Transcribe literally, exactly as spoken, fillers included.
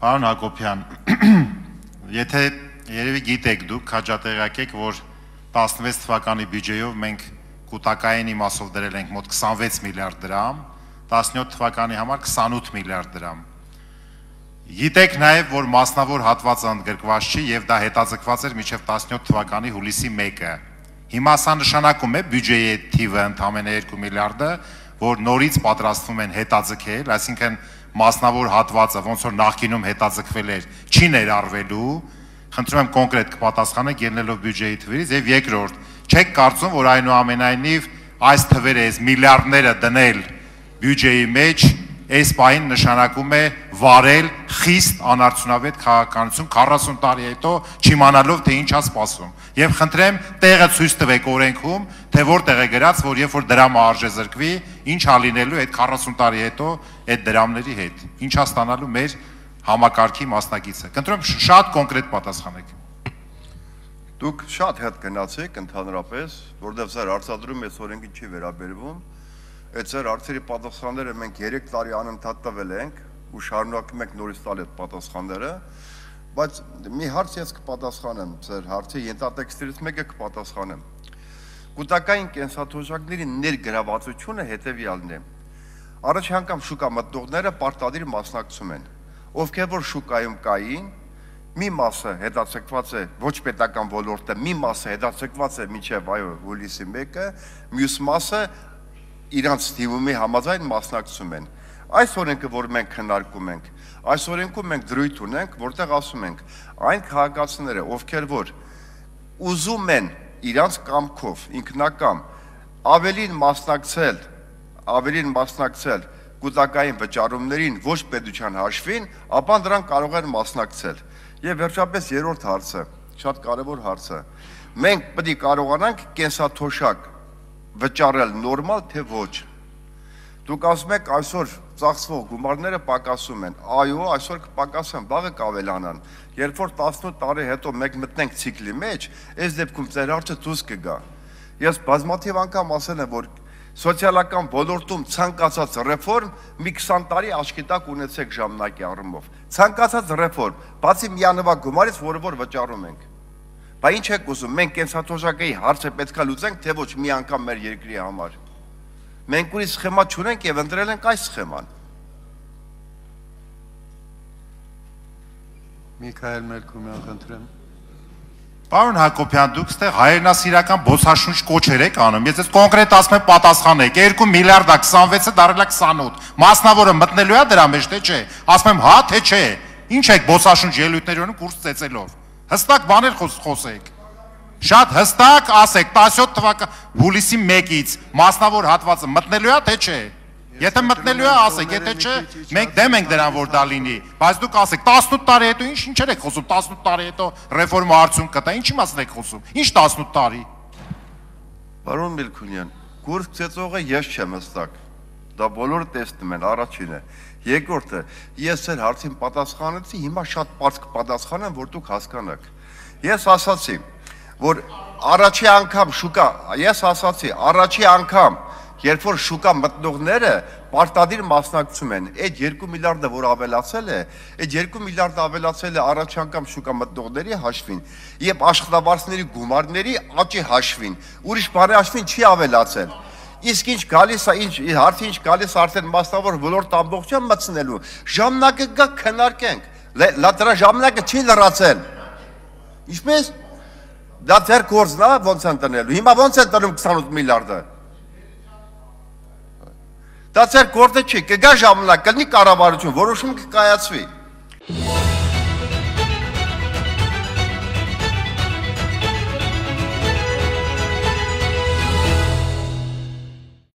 Պարոն Հակոբյան, եթե երևի գիտեք դուք, հաջատեղյակ եք, որ տասնվեց թվականի բյուջեով մենք կուտակային իմաստով դրել ենք մոտ քսանվեց միլիարդ դրամ, տասնյոթ թվականի համար քսանութ միլիարդ դրամ։ Գիտեք նաև, որ մասնավոր հատվածը ընդգրկված չի եւ դա հետաձգված էր մինչեւ տասնյոթ թվականի հուլիսի մեկը։ Հիմա սա նշանակում է բյուջեի թիվը ընդամենը երկու միլիարդը, որ նորից պատրաստվում են հետաձգել, այսինքն մասնավոր հատվածը, ոնց որ նախկինում հետաձգվել էր, չի ներառվելու, խնդրում եմ կոնկրետ կպատասխանեք ելնելով բյուջեի թվերից, եւ երկրորդ, չեք կարծում, որ այնուամենայնիվ այս թվերը, այս միլիարդները դնել բյուջեի մեջ, այս պահին նշանակում է վարել խիստ անարդյունավետ քաղաքականություն քառասուն տարի հետո չիմանալով թե ինչ է սպասում։ Եվ խնդրեմ տեղը ցույց տվեք օրենքում, թե որտեղ է գրած, որ երբ որ դրամը արժե զրկվի, ինչ է լինելու այդ քառասուն տարի հետո այդ դրամների հետ։ Ինչ է ստանալու մեր համակարգի մասնակիցը։ Կընտրում շատ կոնկրետ պատասխանեք։ Դուք շատ հետ գնացեք ընդհանրապես, որովհետև ձեր արտադրում այս օրենքին չի վերաբերվում։ Այդ ձեր հարցերի պատասխանները մենք երեք տարի անընդհատ տվել ենք ու շարունակում ենք նորից տալ այդ պատասխանները, բայց մի հարց ես կպատասխանեմ ձեր հարցի ենթատեքստերից մեկը կպատասխանեմ։ Կուտակային կենսաթոշակների ներգրավվածությունը հետևյալն է։ Առաջ անգամ շուկա մտնողները պարտադիր մասնակցում են, ովքեր որ շուկայում կային, մի մասը հետաձգված է ոչ պետական ոլորտը, մի մասը հետաձգված է մինչև այո հուլիսի մեկը, մյուս մասը իրանց թիմի համաձայն մասնակցում են։ Այս օրենքը, որ մենք քննարկում ենք, այս օրենքում մենք դրույթ ունենք, որտեղ ասում ենք, այն քաղաքացիները, ովքեր որ ուզում են իրանց կամքով, ինքնակամ, ավելին մասնակցել, ավելին մասնակցել կուտակային վճարումներին ոչ պետության հաշվին, ապա դրան կարող են մասնակցել։ Եվ վերջապես երրորդ հարցը, շատ կարևոր հարցը, մենք պետք է կարողանանք կենսաթոշակ վճարել նորմալ թե ոչ։ Դուք ասում եք այսօր ծախսվող գումարները պակասում են, այո, այսօր կպակասեն, վաղը կավելանան։ Երբ որ տասնութ տարի հետո մենք մտնենք ցիկլի մեջ, այս դեպքում ձեր հարցը դուրս կգա։ Ես բազմաթիվ անգամ ասել եմ, որ սոցիալական ոլորտում ցանկացած ռեֆորմ մի քսան տարի աչքի տակ ունեցեք ժամանակի առումով։ Ցանկացած ռեֆորմ, բացի միանվագ գումարից, որը որ վճարում ենք։ Բա ինչ եք ուզում, մենք կենսաթոշակի հարցը պետք է լուծենք, թե ոչ մի անգամ մեր երկրի համար։ Մենք ուրիշ սխեմա չունենք եւ ընտրել ենք այս սխեման։ Միքայել Մելքումյան, խնդրեմ։ Պարոն Հակոբյան, դուք ստեղ հայրենասիրական բոցաշունչ կոչեր եք անում, ես ես կոնկրետ ասում եմ պատասխանեք, երկու միլիարդա քսանվեցը դարել է քսանութ, մասնավորը մտնելու է դրա մեջ, թե չէ, ասում եմ հա, թե չէ, ինչ եք բոցաշունչ ելույթների անում կուրս ծեծելով, հստակ բաներ խոսեք, շատ հստակ ասեք, տասնյոթ թվական հուլիսի մեկից մասնավոր հատվածը մտնելու է, թե չէ, եթե մտնելու է ասեք, եթե չէ, մենք դեմ ենք դրան, որ դա լինի, բայց դուք ասեք, տասնութ տարի հետո ինչ ինչեր եք խոսում, տասնութ տարի հետո ռեֆորմը արդյունք կտա, ինչի մասին եք խոսում, ինչ տասնութ տարի։ Պարոն Մելքումյան, կուրս ծեծողը ես չեմ հստակ, դա բոլորը տեսնում են, առաջինը, երկրորդը, ես ձեր հարցին պատասխանեցի, հիմա շատ պարզ կպատասխանեմ, որ դուք հասկանաք։ Ես ասացի, որ առաջի անգամ շուկա, ես ասացի, առաջի անգամ երբ որ շուկա մտնողները պարտադիր մասնակցում են, այդ երկու միլիարդը, որ ավելացել է, այդ երկու միլիարդը ավելացել է առաջ անգամ շուկա մտնողների հաշվին եւ աշխատավարձների գումարների աճի հաշվին, ուրիշ բանի հաշվին չի ավելացել։ Իսկ ինչ գալիս է, ինչ հարցի ինչ գալիս արդեն մասնավոր ոլորտ ամբողջը մտցնելու, ժամանակը գա քննարկենք, լա դրա ժամանակը չի լրացել։ Ինչպես դա ձեր գործն է, ոնց են տնելու, հիմա ոնց են տրում քսանութ միլիարդը։ Դա ձեր գործը չի, կգա ժամանակ, կլինի կառավարություն, որոշում կկայացվի։